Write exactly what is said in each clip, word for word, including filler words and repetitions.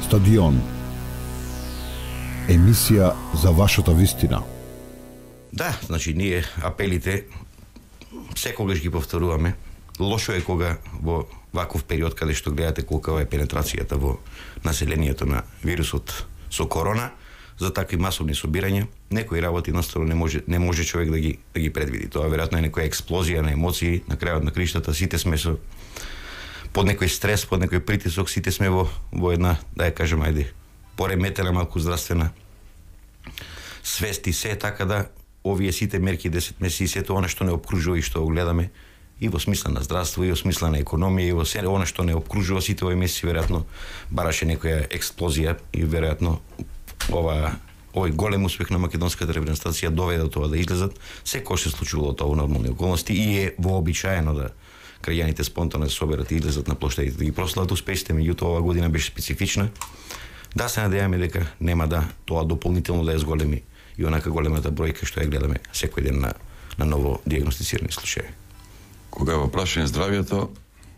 Стадион. Емисија за вашата вистина. Да, значи ние апелите секогаш ги повторуваме. Лошо е кога во ваков период каде што гледате колка е пенетрацијата во населението на вирусот со корона, за такви масовни собирања, некои работи наставно не може не може човек да ги да ги предвиди. Тоа веројатно е некоја експлозија на емоции, на крајот на криштата сите сме со под некој стрес, под некој притисок, сите сме во во една, да ја кажем, ајде, пореметена малку здравствена свест и се, така да овие сите мерки десет месеци, сето она што не обкружува и што го гледаме и во смисла на здравство, и во смисла на економија, и во се она што не обкружува сите овие месеци, веројатно бараше некоја експлозија и веројатно ова овој голем успех на македонската репрезентација доведе до тоа да излезат. Секој се случувало тоа во нормални околности и е вообичаено да крајаните спонтано се соберат и излезат на плоштадите да ги прослават успесите, меѓутоа оваа година беше специфична. Да се надеваме дека нема да тоа дополнително да ја зголеми и онака големата бројка што ја гледаме секој ден на на ново дијагностицирани случаи. Кога во прашање здравјето,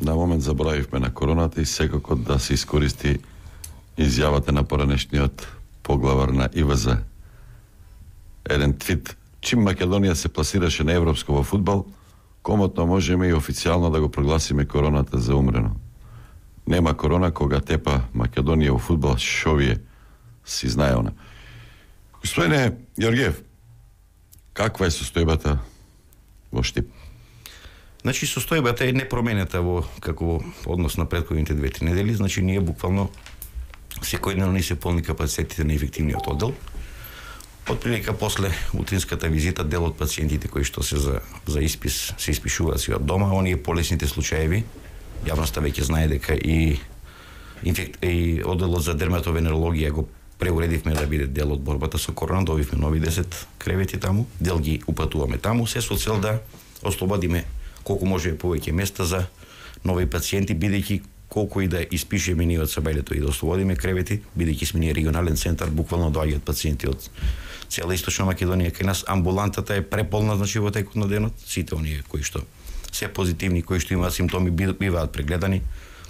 на момент заборавивме на короната и секако да се искористи изјавата на поранешниот поглавар на И В З. Еден твит: чим Македонија се пласираше на европско во фудбал, комотно можеме и официјално да го прогласиме короната за умрено. Нема корона кога тепа Македонија во фудбал, шо вие си знае она. Господине Јоргиев, каква е состојбата во Штип? Значи состојбата е непроменета во како во однос на претходните две-три недели, значи ние буквално секојдневно ни се полни капацитетите на инфективниот оддел. Отприлика после утринската визита дел од пациентите кои што се за за испис се испишуваат си од дома, оние полесните случаеви, јавноста веќе знае дека и инфект и одделот за дерматовенерологија го преуредивме да биде дел од борбата со корона, добивме нови десет кревети таму, дел ги упатуваме таму, се со цел да ослободиме колку може повеќе места за нови пациенти, бидејќи колку и да испишеме ние од Сабајлето и да ослободиме кревети, бидејќи сме ние регионален центар, буквално доаѓаат пациенти од цела Источна Македонија кај нас. Амбулантата е преполна, значи во текот на денот, сите оние кои што се позитивни, кои што имаат симптоми биваат прегледани,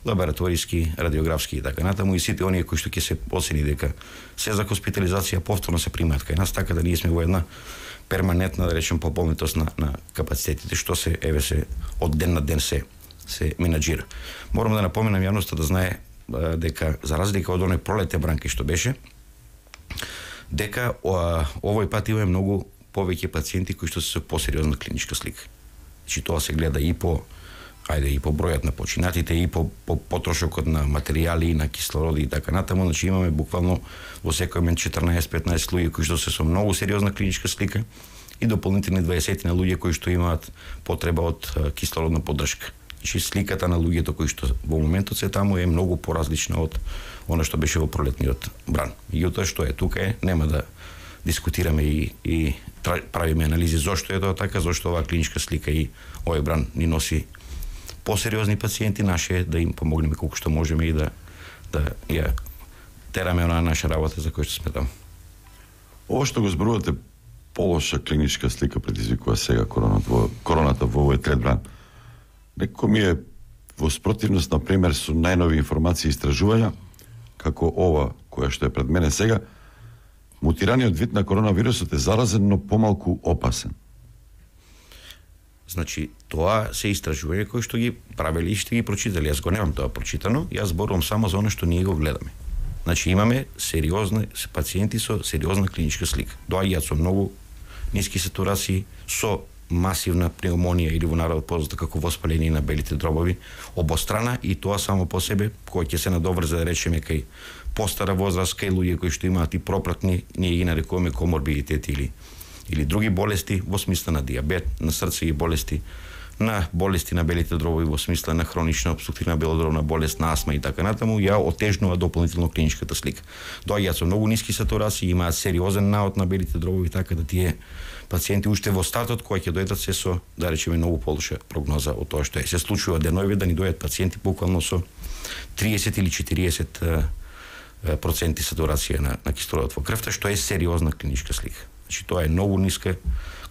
лабораториски, радиографски и така натаму, и сите оние кои што ќе се оцени дека се за хоспитализација повторно се примаат кај нас, така да ние сме во една перманентна, да речем, пополнитост на, на капацитетите, што се, еве се, од ден на ден се се менаџира. Морам да напоменам јавноста да знае а, дека, за разлика од оној пролетен бранки што беше, дека а, овој пат имаме многу повеќе пациенти кои што се со посериозна клиничка слика. Значи тоа се гледа и по ајде и по бројот на починатите, и по, по потрошокот на материјали, на кислороди и така натаму, значи имаме буквално во секој момент четрнаесет-петнаесет луѓе кои што се со многу сериозна клиничка слика и дополнителни дваесет на луѓе кои што имаат потреба од а, кислородна поддршка. Значи сликата на луѓето кои што во моментот се таму е многу поразлична од она што беше во пролетниот бран. Меѓутоа што е тука е, нема да дискутираме и, и правиме анализи зошто е тоа така, зошто оваа клиничка слика и овој бран ни носи посериозни пациенти, наше е да им помогнеме колку што можеме и да да ја тераме онаа наша работа за која што сме таму. Ова што го зборувате, полоша клиничка слика предизвикува сега короната во короната во овој трет бран. Некој ми е во спротивност, например, со најнови информации и истражувања, како ова, која што е пред мене сега, мутираниот вид на коронавирусот е заразен, но помалку опасен. Значи, тоа се истражување кои што ги правели и што ги прочитали. Јас го немам тоа прочитано, јас зборувам само за оно што ние го гледаме. Значи, имаме сериозни пациенти со сериозна клиничка слика. Доаѓаат со многу ниски сатурации, со масивна пневмонија или во народ познато како воспаление на белите дробови обострана, и тоа само по себе, кој ќе се надоврзе, да речеме, кај постара возраст, кај луѓе кои што имаат и пропратни, ние ги нарекуваме коморбидитети или или други болести во смисла на диабет, на срцеви болести, на болести на белите дробови во смисла на хронична обструктивна белодробна болест, на астма и така натаму, ја отежнува дополнително клиничката слика. Доаѓаат со многу ниски сатурации, имаат сериозен наод на белите дробови, така да тие пациенти уште во стартот кои ќе дојдат се со, да речеме, многу полоша прогноза од тоа што е. Се случува денови да ни дојдат пациенти буквално со триесет или четириесет проценти сатурација на, на кислородот во крвта, што е сериозна клиничка слика. Значи тоа е многу ниска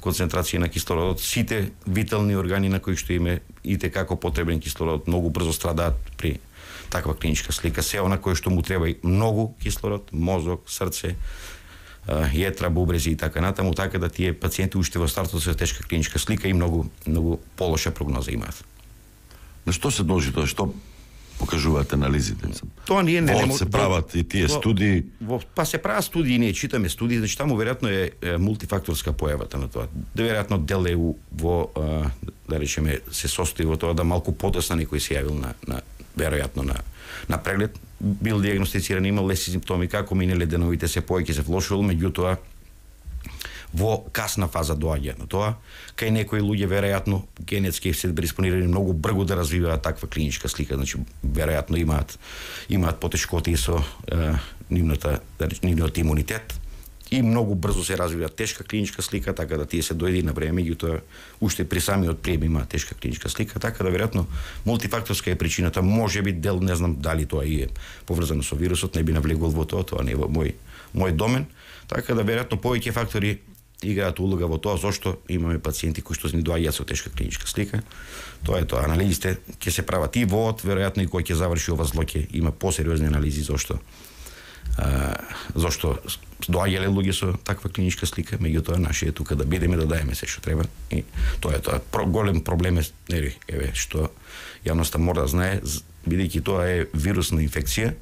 концентрација на кислородот. Сите витални органи на кои што име и те како потребен кислород многу брзо страдаат при таква клиничка слика, се она кое што му треба и многу кислород, мозок, срце, јетра, бубрези и така натаму, така да тие пациенти уште во стартот со тешка клиничка слика и многу многу полоша прогноза имаат. На што се дължи тоа? Што покажуваат анализите? Тоа ние не не се прават и тие студии. Во, па се прават студии, ние читаме студии, значи таму веројатно е, е мултифакторска појавата на тоа. Да веројатно дел е во а, да речеме се состои во тоа да малку подоцна некој се јавил на на веројатно на на преглед, бил диагностициран, имал леси симптоми, како минеле деновите се поеќе се влошувал, меѓутоа во касна фаза доаѓа на тоа, кај некои луѓе веројатно генетски се преиспонирани многу брзо да развиваат таква клиничка слика, значи веројатно имаат имаат потешкоти со е, нивната нивниот имунитет и многу брзо се развива тешка клиничка слика, така да тие се дојде на време, меѓутоа уште при самиот прием има тешка клиничка слика, така да веројатно мултифакторска е причината, можеби дел, не знам дали тоа и е поврзано со вирусот, не би навлегувал во тоа, тоа не е во мој мој домен, така да веројатно повеќе фактори играат улога во тоа зошто имаме пациенти кои што ни доаѓаат со тешка клиничка слика. Тоа е тоа, анализите ќе се прават и во од, веројатно и кој ќе заврши ова зло ќе има посериозни анализи зошто а, зошто доаѓале луѓе со таква клиничка слика, меѓутоа наше е тука да бидеме, да даеме се што треба и тоа е тоа. Про, голем проблем е, нели, еве што јавноста мора да знае, бидејќи тоа е вирусна инфекција,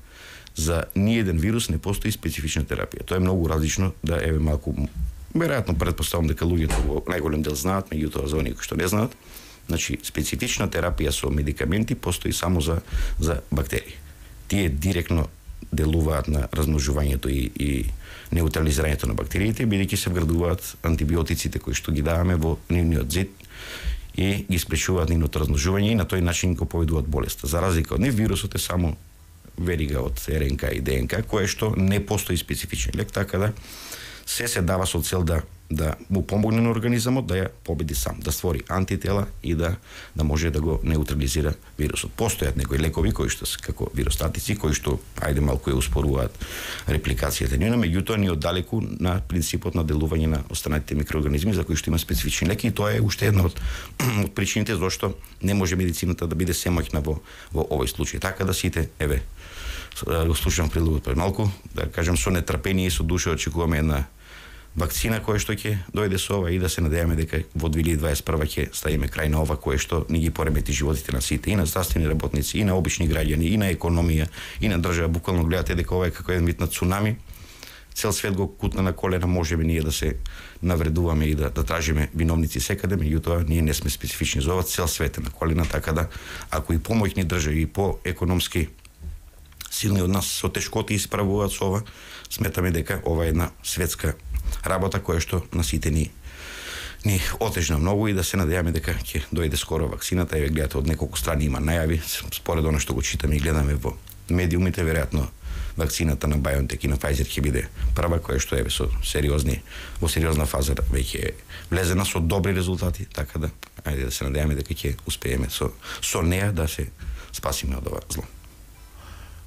за ниеден вирус не постои специфична терапија. Тоа е многу различно, да еве малку веројатно претпоставам дека луѓето во најголем дел знаат, меѓутоа за оние кои што не знаат, значи специфична терапија со медикаменти постои само за за бактерии. Тие директно делуваат на размножувањето и, и неутрализирањето на бактериите, бидејќи се вградуваат антибиотиците кои што ги даваме во нивниот зид и ги спречуваат нивното размножување и на тој начин го поведуваат болеста. За разлика од нив, вирусот е само верига од РНК и ДНК, кое што не постои специфичен лек, така да се се дава со цел да да му помогне на организмот да ја победи сам, да створи антитела и да да може да го неутрализира вирусот. Постојат некои лекови кои што се како виростатици, кои што ајде малку ја успоруваат репликацијата нивна, меѓутоа ни оддалеку на принципот на делување на останатите микроорганизми за кои што има специфични леки и тоа е уште една од, од причините зашто не може медицината да биде семоќна во во овој случај. Така да сите, еве, го слушам прилогот пред малку, да кажам со нетрпение и со душа очекуваме една вакцина која што ќе дојде со ова и да се надеваме дека во две илјади дваесет и прва ќе ставиме крај на ова кое што ни ги поремети животите на сите, и на здравствени работници, и на обични граѓани, и на економија, и на држава. Буквално гледате дека ова е како еден вид на цунами. Цел свет го кутна на колена, можеби ние да се навредуваме и да, да тражиме виновници секаде, меѓутоа ние не сме специфични за ова, цел свет е на колена, така да ако и помоќни држави и по економски силни од нас со тешкоти исправуваат со ова, сметаме дека ова е една светска работа која што на сите ни ни отежна многу и да се надеваме дека ќе дојде скоро вакцината. Еве гледате од неколку страни има најави, според она што го читаме и гледаме во медиумите, веројатно вакцината на BioNTech и на Pfizer ќе биде прва која што еве со сериозни во сериозна фаза веќе влезена со добри резултати, така да ајде да се надеваме дека ќе успееме со со неа да се спасиме од ова зло.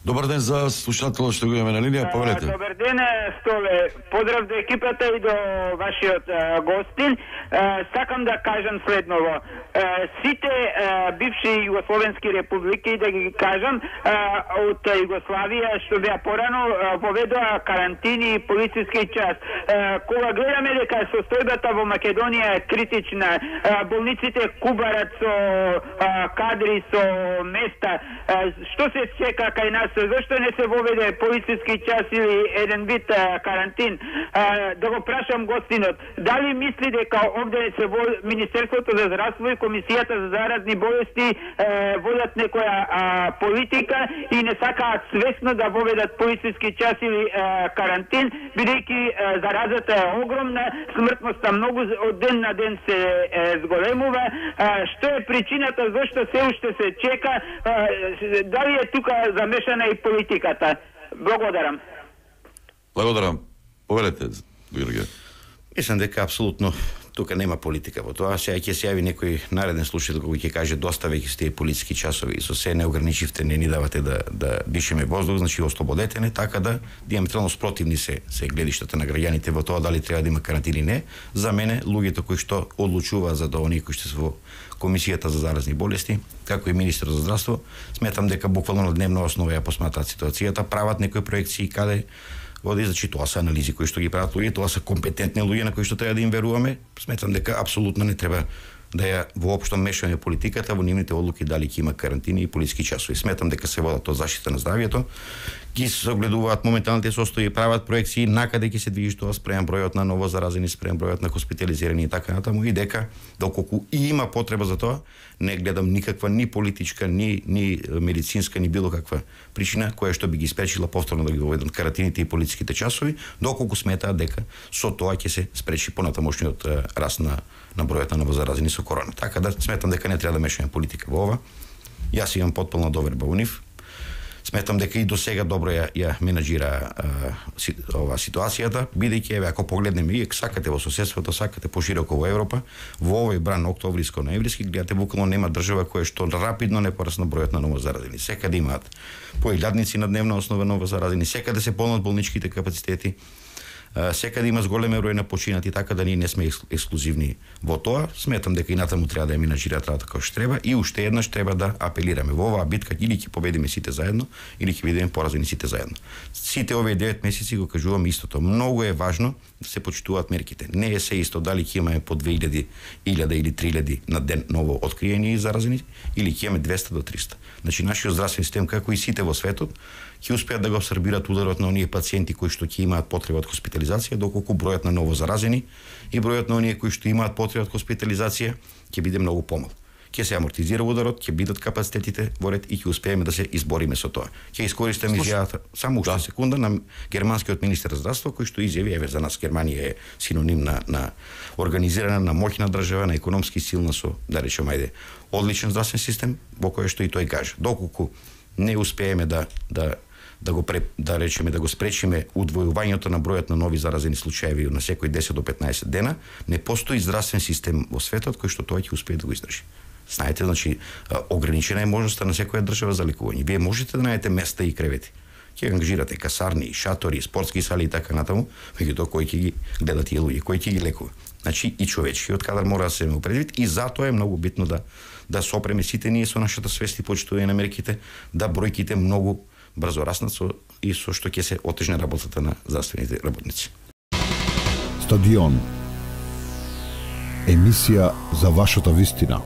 Добар ден за слушателот што го имаме на линија, повелете. Добар ден, Столе. Поздрав до екипата и до вашиот а, гостин. А, сакам да кажам следново. А, сите а, бивши југословенски републики, да ги кажам, а, од Југославија што беа порано поведоа карантини и полициски час. А, кога гледаме дека состојбата во Македонија е критична, а, болниците кубарат со а, кадри, со места, а, што се чека кај нас? Зошто не се воведе полициски час или еден вид а, карантин? А, да го прашам гостинот, дали мисли дека овде се во Министерството за здравство и Комисијата за заразни болести е, водат некоја а, политика и не сакаат свесно да воведат полициски час или а, карантин, бидејќи заразата е огромна, смртноста многу од ден на ден се е, зголемува. А, што е причината зашто се уште се чека? А, дали е тука замешана и политиката? Благодарам. Благодарам. Повелете, Георгија. Мислам дека апсолутно тука нема политика во тоа. Сега ќе се јави некој нареден слушател кој ќе каже доставајќи се тие политички часови и со се не ограничивте, не ни давате да да дишеме воздух, значи ослободете не, така да диаметрално спротивни се се гледиштата на граѓаните во тоа дали треба да има карантина или не. За мене луѓето кои што одлучуваат за тоа, оние кои што се во Комисијата за заразни болести, како и министер за здравство, сметам дека буквално на дневна основа ја посматраат ситуацијата, прават некои проекции каде води, значи тоа се анализи кои што ги прават луѓе, тоа се компетентни луѓе на кои што треба да им веруваме. Сметам дека апсолутно не треба да ја воопшто мешаме политиката во нивните одлуки дали ќе има карантини и политички часови. Сметам дека се водат од заштита на здравјето, ги се огледуваат моменталните состојби, прават проекции накаде ќе се движи тоа спрема бројот на ново заразени, спрема бројот на хоспитализирани и така натаму, и дека доколку и има потреба за тоа, не гледам никаква ни политичка, ни ни медицинска, ни било каква причина која што би ги спречила повторно да ги воведат карантините и политичките часови, доколку сметаат дека со тоа ќе се спречи понатамошниот раст на на бројот на новозаразени со корона. Така да сметам дека не треба да мешаме политика во ова. Јас имам потполна доверба во нив. Сметам дека и до сега добро ја, ја менаџира а, си, ова ситуацијата, бидејќи еве ако погледнеме и сакате во соседството, сакате пошироко во Европа, во овој бран октомвриско-ноемвриски, гледате буквално нема држава која што рапидно не порасна бројот на новозаразени. Секаде имаат по илјадници на дневна основа новозаразени, секаде се полнат болничките капацитети. Секаде има зголемен број на починати, така да ние не сме ексклузивни во тоа. Сметам дека и натаму треба да ја менаџираат работа како што треба и уште еднаш треба да апелираме во оваа битка, или ќе победиме сите заедно, или ќе бидеме поразени сите заедно. Сите овие девет месеци го кажувам истото. Многу е важно да се почитуваат мерките. Не е се исто дали ќе имаме по две илјади, илјада или три илјади на ден ново откриени и заразени, или ќе имаме двеста до триста. Значи нашиот здравствен систем, како и сите во светот, ќе успеат да го абсорбираат ударот на оние пациенти кои што ќе имаат потреба од хоспитализација, доколку бројот на ново заразени и бројот на оние кои што имаат потреба од хоспитализација ќе биде многу помал. Ќе се амортизира ударот, ќе бидат капацитетите во ред и ќе успееме да се избориме со тоа. Ќе искористам изјавата само уште да. секунда на германскиот министер за здравство кој што изјави, еве за нас Германија е синоним на на организирана, на моќна држава, на економски силна со, да речем, ајде, одличен здравствен систем, во кој што и тој каже. Доколку не успееме да да да го пре, да речеме да го спречиме удвојувањето на бројот на нови заразени случаеви на секој десет до петнаесет дена, не постои здравствен систем во светот кој што тоа ќе успее да го издржи. Знаете, значи ограничена е можноста на секоја држава за лекување. Вие можете да најдете места и кревети. Ќе ангажирате касарни, шатори, спортски сали и така натаму, меѓутоа кој ќе ги гледа тие луѓе, кој ќе ги лекува. Значи и човечкиот кадар мора да се има предвид и затоа е многу битно да да сопреме сите ние со нашата свест и почитување на мерките, да бројките многу брзо раснат со и со што ќе се отежне работата на здравствените работници. Стадион. Емисија за вашата вистина.